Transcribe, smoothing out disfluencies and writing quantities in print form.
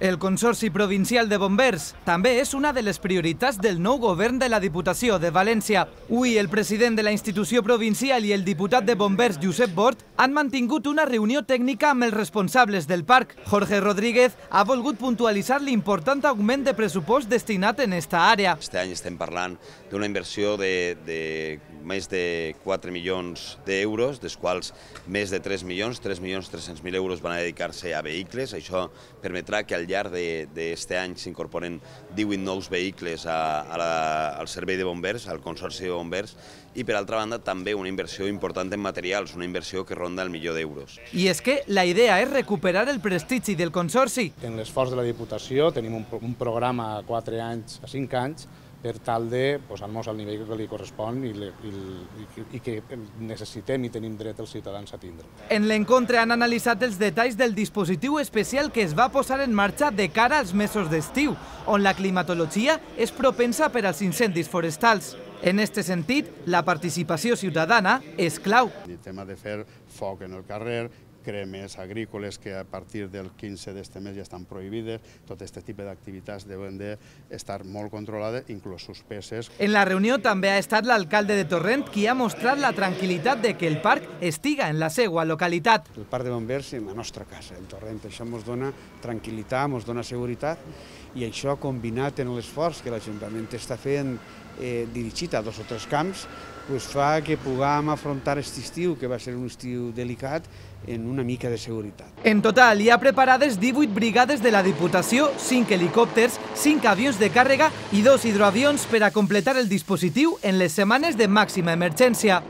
El Consorci Provincial de Bombers també és una de les prioritats del nou govern de la Diputació de València. Avui el president de la institució provincial i el diputat de Bombers, Josep Bort, han mantingut una reunió tècnica amb els responsables del parc. Jorge Rodríguez ha volgut puntualitzar l'important augment de pressupost destinat en esta àrea. Este any estem parlant d'una inversió de més de 4 milions d'euros, dels quals més de 3 milions, 3.300.000 euros van a dedicar-se a vehicles. Això permetrà que al llarg d'aquest any s'incorporen 18 nous vehicles al servei de bombers, al Consorci de Bombers, i per altra banda també una inversió important en materials, una inversió que ronda el milió d'euros. I és que la idea és recuperar el prestigi del Consorci. En l'esforç de la Diputació tenim un programa a 4 anys, a 5 anys, per tal de posar-nos al nivell que li correspon i que necessitem i tenim dret els ciutadans a tindre. En l'encontre han analitzat els detalls del dispositiu especial que es va posar en marxa de cara als mesos d'estiu, on la climatologia és propensa per als incendis forestals. En aquest sentit, la participació ciutadana és clau. El tema de fer foc en el carrer, cremes agrícoles que a partir del 15 d'este mes ja estan prohibides, tot aquest tipus d'activitats deuen d'estar molt controlades, inclús suspeses. En la reunió també ha estat l'alcalde de Torrent qui ha mostrat la tranquil·litat de que el parc estiga en la seva localitat. El parc de bombers és la nostra casa, el Torrent. Això ens dona tranquil·litat, ens dona seguretat, i això combinat amb l'esforç que l'Ajuntament està fent dirigit a 2 o 3 camps, fa que puguem afrontar aquest estiu, que va ser un estiu delicat, en una mica de seguretat. En total hi ha preparades 18 brigades de la Diputació, 5 helicòpters, 5 avions de càrrega i 2 hidroavions per a completar el dispositiu en les setmanes de màxima emergència.